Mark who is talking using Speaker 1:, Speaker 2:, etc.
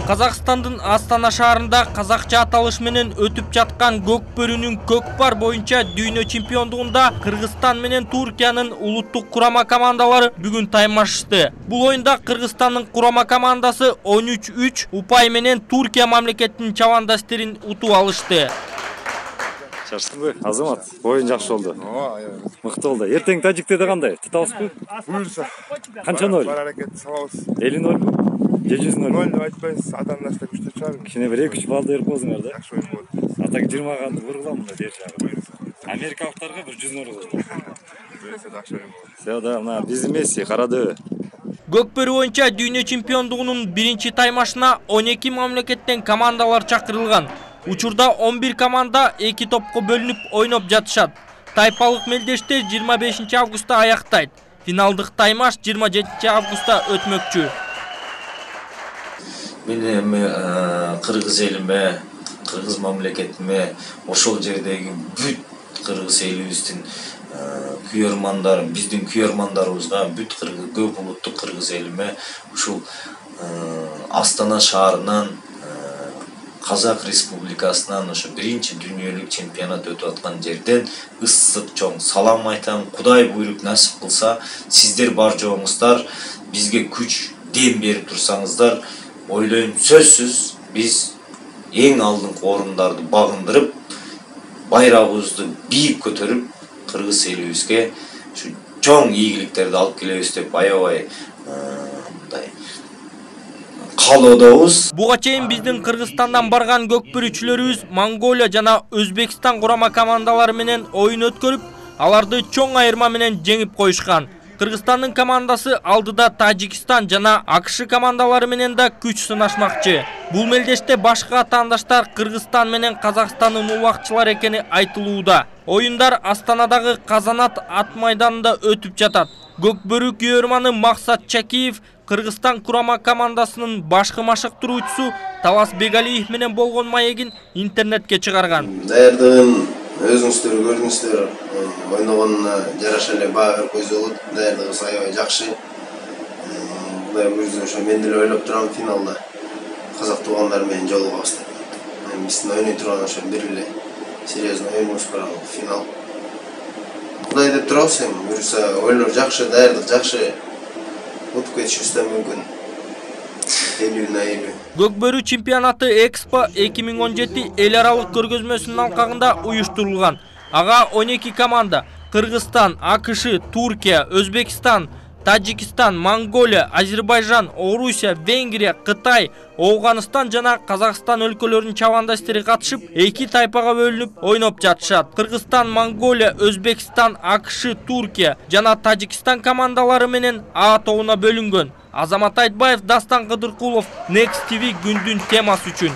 Speaker 1: Казакстандын Астана шаарында казакча аталыш менен өтүп жаткан Көкбөрүнүн көкпар боюнча дүйнө чемпиондугунда Кыргызстан менен Туркиянын улуттук курама командалары бүгүн таймашышты. Бул оюнда Кыргызстандын курама командасы 13-3 упай менен Туркия мамлекетинин чабандаштерин утуп алышты.
Speaker 2: Шаштыңбы, Азамат? Оюн жакшы болду. Мыкты болду. Эртең тажиктерде кандай? Тутабызбы?
Speaker 3: Буюрса.
Speaker 2: Канча ноль?
Speaker 3: Бар аракет салабыз.
Speaker 2: 50-0. 700-0.
Speaker 3: Ноль деп айтпайбыз, атамдаштар күчтүү чыгар.
Speaker 2: Кичине бир 2-3 балл берип коесуңар да.
Speaker 3: Жакшы оюн болду.
Speaker 2: Атак 20 ганды ургулам мында дер жагы. Америкалыктарга бир 100-0 болду.
Speaker 3: Буюрса жакшы оюн болду.
Speaker 2: Все да, мына биздин Месси карады.
Speaker 1: Көкбөрү боюнча дүйнө чемпиондугунун биринчи таймашына 12 мамлекеттен командалар чакырылган. Учурда 11 команда 2 топко бөлүнүп ойноп жатышат. Тайпалык мелдештер 25 августта аяктайт. Финалдык таймаш 27 августта өтмөкчү.
Speaker 4: Мен эми кыргыз элиме, кыргыз мамлекетиме, ошол жердеги бүт кыргыз элибиздин күйөрмандары, биздин күйөрмандарыбызга, бүт көп улуттук кыргыз элиме ушул Астана шаарынан Казак Республикасынан ошо биринчи дүйнөлүк чемпионат өтүп аткан жерден ысык чоң салам айтам. Кудай буйруп насип кылса, сиздер бар жоңуздар бизге күч, дем берип турсаңыздар, ойлойм сөзсүз биз эң алдыңкы орундарды багындырып, байрагыбызды бийик көтөрүп, кыргыз элибизге ушу чоң ийгиликтерди алып келебиз деп аябай мындай каалоодобуз.
Speaker 1: Буга чейин биздин Кыргызстандан барган көкбөрүчүлөрүбүз Монголия жана Өзбекстан курама командалары менен оюн өткөрүп, аларды чоң айырма менен жеңип коюшкан. Кыргызстандын командасы алдыда Тажикстан жана АКШ командалары менен да күч сынашмакчы. Бул мелдеште башка атаандаштар Кыргызстан менен Казакстандын улакчылар экени айтылууда. Оюндар Астанадагы Казанат ат майданында өтүп жатат. Көкбөрү күйөрманы Максат Чакиев Кыргызстан курама командасынын башкы машыктыруучусу Талас Бегалиев менен болгон маегин интернетке чыгарган.
Speaker 5: Даярдыгын өзүңүздөр көрдүңүздөр, ойногонуна жараша эле баа берип койсо болот. Даярдыгыбыз аябай жакшы. Кудай буйрса ошо мен деле ойлоп турам финалда казак туугандар менен жолугабыз деп. Биздин ойной турган ошо бир эле серьезный оюнубуз бар, финал. Кудай деп турабыз эми, буйрса ойлор жакшы, даярдык жакшы. Утуп кетишибиз да мүмкүн. 50/50.
Speaker 1: Көкбөрү чемпионаты Экспо 2017 эл аралык көргөзмөсүнүн алкагында уюштурулган. Ага 12 команда Кыргызстан, АКШ, Туркия, Өзбекстан, Тажикстан, Монголия, Азербайжан, Орусия, Венгрия, Кытай, Ооганыстан жана Казакстан өлкөлөрүнүн чабандаштары катышып, 2 тайпага бөлүнүп ойноп жатышат. Кыргызстан, Монголия, Өзбекстан, АКШ, Туркия жана Тажикстан командалары менен А тобуна бөлүнгөн. Азамат Айтбаев, Дастан Кыдыркулов, Next TV күндүн темасы үчүн.